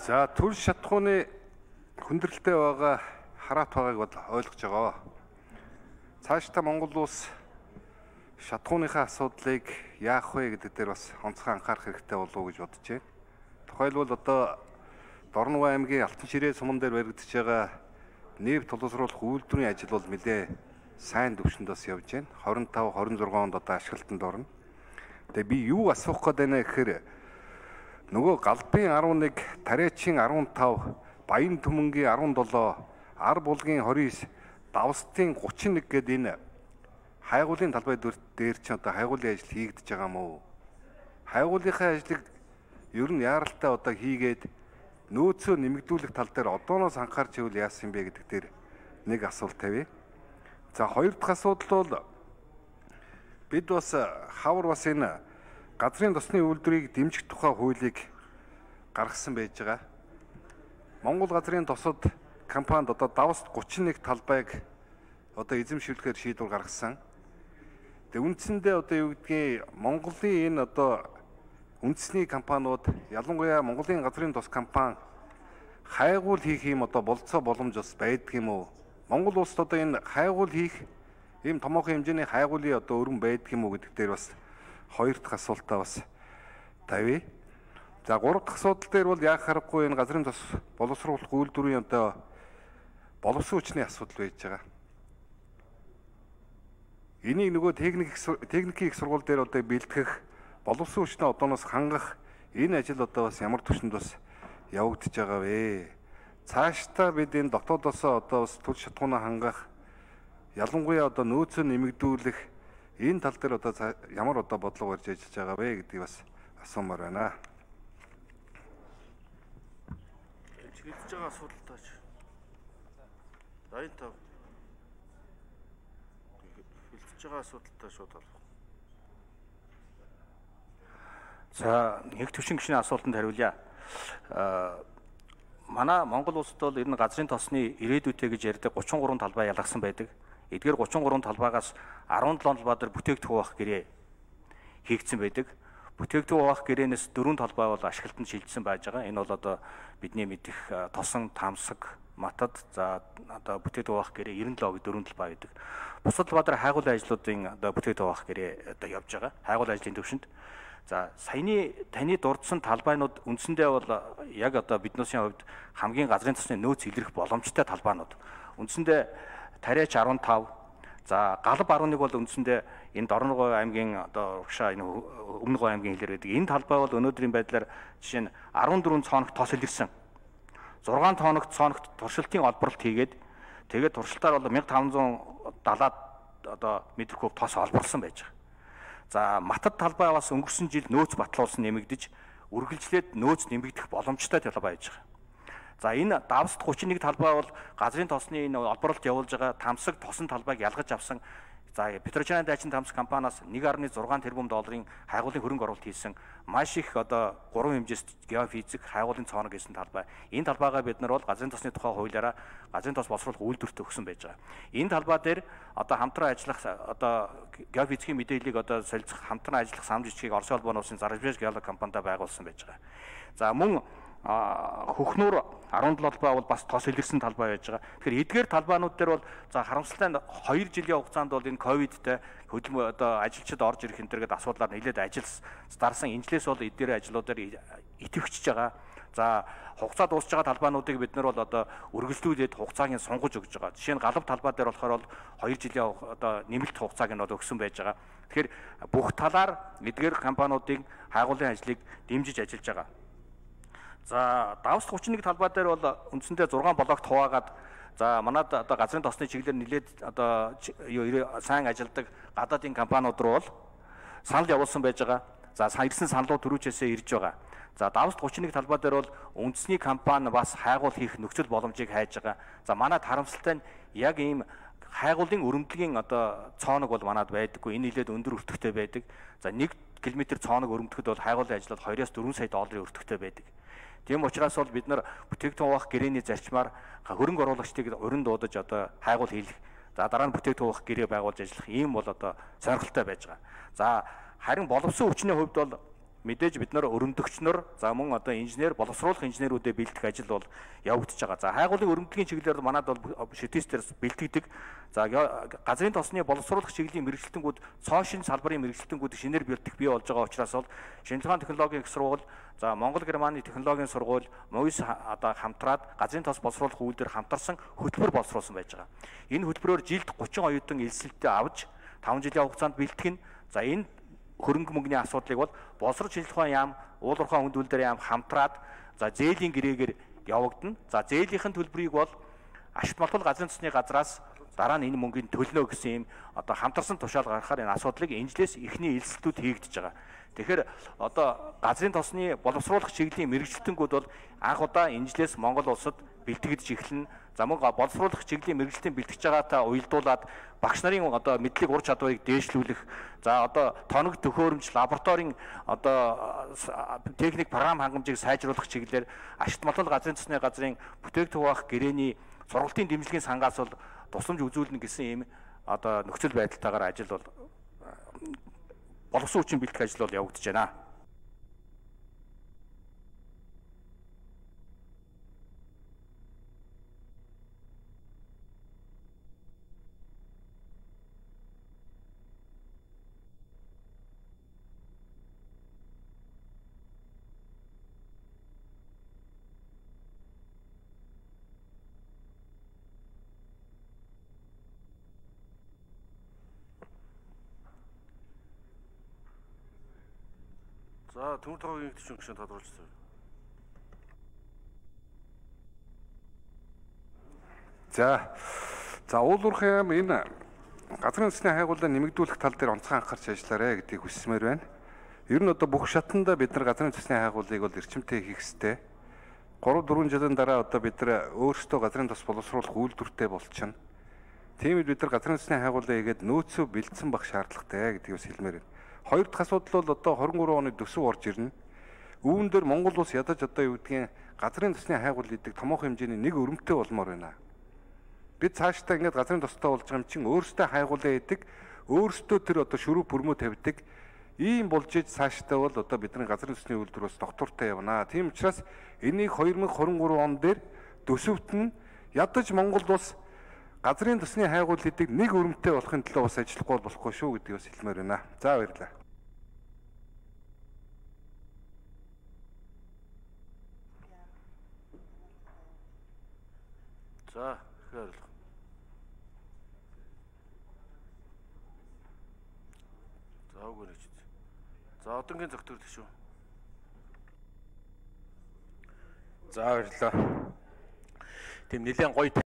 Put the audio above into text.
За төр шатхууны хүндрэлтэй байгаа хараат байгааг бол ойлгож байгаа. Цаашдаа Монгол улс шатхууныхаа асуудлыг яах вэ гэдэг дээр бас онцгой анхаарах хэрэгтэй болов уу гэж бодож байна. Тухайлбал одоо Дорнова аймгийн Алтан ширээ суман дээр баригдаж байгаа нефт боловсруулах үйлдвэрийн ажил бол нэлээ сайн түвшинд бас явж байна. 25, 26 онд одоо ашиглалтанд орно. Тэгээ би юу асуух гээд байна гэхээр нөгөө Галбын 11, Тариачин 15, Баян Түмэнгийн 17, Ар булгийн 29, Давстын 31 гэдэг энэ хайгуулын талбай дээр ч одоо хайгуулын ажил хийгдэж байгаа мó. Хайгуулынхаа ажлыг ер нь яаралтай одоо хийгээд нөөцөө нэмэгдүүлэх тал дээр одооноос анхаарч ивэл яасан бэ гэдэг дээр нэг асуулт тавья. За хоёр дахь асуудал бол бид бас хавар бас энэ газрын тосны үйлдвэрийг дэмжих тухай хуулийг гаргасан байж байгаа. Монгол газрын тосод компанид одоо Давст 31 талбайг одоо эзэмшүүлэхээр шийдвэр гаргасан. Тэгээ үндсэндээ одоо юу гэдгийг Монголын энэ одоо үндэсний компаниуд ялангуяа Монголын газрын тос компани хайгуул хийх юм одоо болцоо боломж бас байдаг юм уу? Монгол улсад одоо энэ хайгуул хийх ийм томоохон хэмжээний хайгуулын одоо өрн байдаг юм уу гэдэг дээр бас хоёр дахь асуултаа бас тавья. За гурав дахь асуудал дээр бол яг харахгүй энэ газрын тос боловсруулах үйлдвэрийн одоо боловсон хүчний асуудал байж байгаа. Энийг нөгөө техникийн их сургууль дээр одоо бэлтгэх боловсон хүчнээ одооноос хангах энэ ажил одоо бас ямар түвшинд бас явагдаж байгаа вэ? Цаашдаа бид энэ дотоодосоо одоо бас төр шатхуунаа хангах ялангуяа одоо нөөцөө нэмэгдүүлэх энэ тал дээр одоо ямар одоо бодлого барьж ажиллаж байгаа вэ гэдгийг бас асуумаар байна. Хэлж байгаа асуудалтаач. 85. Хэлж байгаа асуудалтаа шууд харах. За нэг төвшин гишүүний асуултанд хариулъя. Манай Монгол улсад бол ер нь газрын тосны ирээдүйтэй гэж ярьдаг 33 талбай ялгасан байдаг. Эдгээр 33 талбайгаас 17 талбай дээр бүтээгдэхүүн авах гэрээ хийгдсэн байдаг. Бүтээгдэхүүн авах гэрээнээс 4 талбай бол ашиглалтанд шилжсэн байж байгаа. Энэ бол одоо бидний мэдих Тосон, Тамсаг, Матад за одоо бүтээгдэхүүн авах гэрээ 97 4 талбай байдаг. Бусад талбай дээр хайгуулын ажлуудын одоо бүтээгдэхүүн авах гэрээ одоо явж байгаа. Хайгуулын ажлын төвшөнд. За саяны таны дурдсан талбайнууд үндсэндээ бол яг одоо биднээсийн хувьд хамгийн газрын тосны нөөц илэрх боломжтой талбайнууд. Үндсэндээ Тариач 15, за Галб 11 бол үндсэндээ энэ Дорногов аймгийн одоо угшаа энэ Өмнө Говь аймгийн хэлээр байдаг. Энэ талбай бол өнөөдрийн байдлаар жишээ нь 14 цоногт тос илэрсэн. 6 цоногт туршилтын олборлт хийгээд тэгээд туршилтаар бол 1570 одоо метр куб тос олборлсон байж байгаа. За Матад талбай бас өнгөрсөн жил нөөц батлуулсан нэмэгдэж үргэлжлээд нөөц нэмэгдэх боломжтой талбай байж байгаа. За энэ Давст 31 талбай бол газрын тосны энэ олборлолт явуулж байгаа Тамсаг тосон талбайг ялгаж авсан. За Петрочаны дайчин Тамсаг компаниас 1.6 тэрбум долларын хайгуулын хөрөнгө оруулалт хийсэн маш их одоо 3 хэмжээст геофизик хайгуулын цооног гэсэн талбай. Энэ талбайгаа бид нар бол газрын тосны тухай хуулиараа газрын тос боловсруулах үйлдвэрт өгсөн байж байгаа. Энэ талбай дээр одоо хамтран ажиллах одоо геофизикийн мэдээллийг одоо солилцох хамтран ажиллах самж жижиг Оросын холбооны улсын Заржбэж геолог компанитай байгуулсан байж байгаа. За мөн Хөхнүүр 17 талбай бол бас тос илэрсэн талбай байж байгаа. Тэгэхээр эдгээр талбайнууд дээр бол за харамсалтай 2 жилийн хугацаанд бол энэ ковидтэй хөдөлмөр одоо ажилчид орж ирэх энэ төргээд асуудлаар нэлээд ажил дарсан. Инжлээс бол эдгээр ажлуудаар идэвхжиж байгаа. За хугацаа дуусж байгаа талбайнуудыг бид нар бол одоо үргэлжлүүлээд хугацааг нь сунгаж өгж байгаа. Жишээ нь Галб талбай дээр болохоор бол 2 жилийн одоо нэмэлт хугацааг нь бол өгсөн байж байгаа. Тэгэхээр бүх талаар эдгээр компаниудын хайгуулын ажлыг дэмжиж ажиллаж байгаа. За Давст 31 талбай дээр бол үндсэндээ 6 блокт хуваагаад за манад одоо газрын тосны чиглэлээр нэлээд одоо сайн ажилдаг гадаадын компаниуд руу бол санал явуулсан байж байгаа. За ирсэн саналууд төрүүчээсээ ирж байгаа. За Давст 31 талбай дээр бол үндэсний компани бас хайгуул хийх нөхцөл боломжийг хайж байгаа. За манад харамсалтай нь яг ийм хайгуулын өрөмдлөгийн одоо цооног бол манад байдаггүй. Энэ нэлээд өндөр өртөгтэй байдаг. За 1 км цооног өрөмдөхөд бол хайгуулын ажлууд 2-4 сая долларын өртөгтэй байдаг. Тийм учраас бол бид нар бүтээгдэхүүн авах гэрээний зарчмаар хөрөнгө оруулагчдыг урин дуудаж одоо хайгуул хийх. За дараа нь бүтээгдэхүүн авах гэрээ байгуулж ажиллах ийм бол одоо сонирхолтой байж байгаа. За харин боловсон хүчний хувьд бол мэдээж бид нар өрөмдөгчнөр за мөн одоо инженер боловсруулах инженерүүдэд бэлдэх ажил бол явагдаж байгаа. За хайгуулын өрөмдлөгийн чиглэлээр манад бол шитистээр бэлтгэдэг. За газрын тосны боловсруулах чиглэлийн мэрэгчлэлтэнгүүд цоошин салбарын мэрэгчлэлтэнгүүд шинээр бэлдэх бий болж байгаа учраас бол шинжилгээний технологийн их сургууль, за Монгол Германы технологийн сургууль, МОИС одоо хамтраад газрын тос боловсруулах үйлдвэр хамтарсан хөтөлбөр боловсруулсан байж байгаа. Энэ хөтөлбөрөөр жилд 30 оюутан элсэлтээ авч 5 жилийн хугацаанд бэлтгэх нь. За энэ хөрөнгө мөнгөний асуудлыг бол боловсрол шинжилгээ ухаан яам, уул уурхай хүнд үйлдвэр яам хамтраад за зээлийн гэрээгээр явагдана. За зээлийнхэн төлбөрийг бол ашигт малбал газрын тосны газраас дараа нь энэ мөнгөний төлнө гэсэн юм одоо хамтарсан тушаал гаргахаар энэ асуудлыг инжлээс эхний элсэлтүүд хийгдэж байгаа. Тэгэхээр одоо газрын тосны боловсруулах чиглэлийн мэрэгчлэлтэнгүүд бол анх удаа инжлээс Монгол улсад бэлтгэж эхэлнэ. За мөн боловсруулах чиглэлийн мэрэгчлэлтийн бэлтгэж байгаатай уялдуулаад багш нарын одоо мэдлэг ур чадварыг дээшлүүлэх, за одоо тоног төхөөрөмж, лабораторийн одоо техник програм хангамжийг сайжруулах чиглэлээр ашигт малбал газрын тосны газрын бүтээгдэхүүн хуваах гэрээний сургалтын дэмжлэгийн сангаас бол тусламж үзүүлнэ гэсэн ийм одоо нөхцөл байдалтайгаар ажил бол боловсон хүчин бэлтгэх ажил бол явагдаж байна. За төмөр тоогийн төчөн гүшин тодруулсан. За уул уурхай яам энэ газрын тосны хайгуулаа нэмэгдүүлэх тал дээр онцгой анхаарч ажиллаарэ гэдгийг хүсмээр байна. Ер нь одоо бүх шатанда бид нар газрын тосны хайгуулыг бол эрчимтэй хийх ёстой. 3-4 жилийн дараа одоо бид нар өөрсдөө газрын тос боловсруулах үйлдвэртэй болчихно. Тийм бид нар газрын тосны хайгуулаа хийгээд нөөцөө бэлдсэн байх шаардлагатай гэдгийг бас хэлмээр байна. Хоёр дахь асуудал бол одоо 23 оны төсөв орж ирнэ. Үүн дээр Монгол улс ядаж одоо юу гэдгийг газрын тосны хайгуул гэдэг томоохон хэмжээний нэг өрөмтэй болмоор байна. Бид цаашдаа ингээд газрын тостой болж байгаа юм чинь өөрсдөө хайгуулаа хийдэг, өөрсдөө тэр одоо шүрүү бүрмөө тавьдаг. Ийм болж иж цаашдаа бол одоо бидний газрын тосны үйлдвэрээс доктортой явна. Тийм учраас энийг 2023 он дээр төсөвт нь ядаж Монгол улс газрын тосны хайгуул гэдэг нэг өрөмтэй болохын төлөө бас ажиллахгүй болохгүй шүү гэдгийг бас хэлмээр байна. За баярлалаа. За ихээр л. За үгүй нэг ч. За одонгийн зөвтөрлөг шүү. За баярлалаа. Тийм нэлээд гоё